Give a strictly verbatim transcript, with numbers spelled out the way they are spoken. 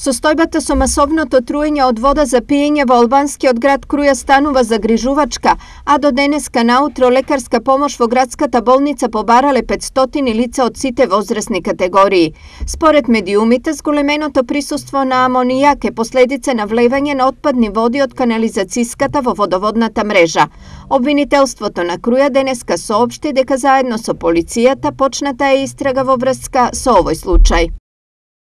Состојбата со масовното труење од вода за пиење во албанскиот град Круја станува загрижувачка, а до денеска наутро лекарска помош во градската болница побарале петстотини лица од сите возрастни категории. Според медиумите, зголеменото присуство на амонијак е последица на влевање на отпадни води од канализацијската во водоводната мрежа. Обвинителството на Круја денеска соопшти дека заедно со полицијата почната е истрага во врска со овој случај.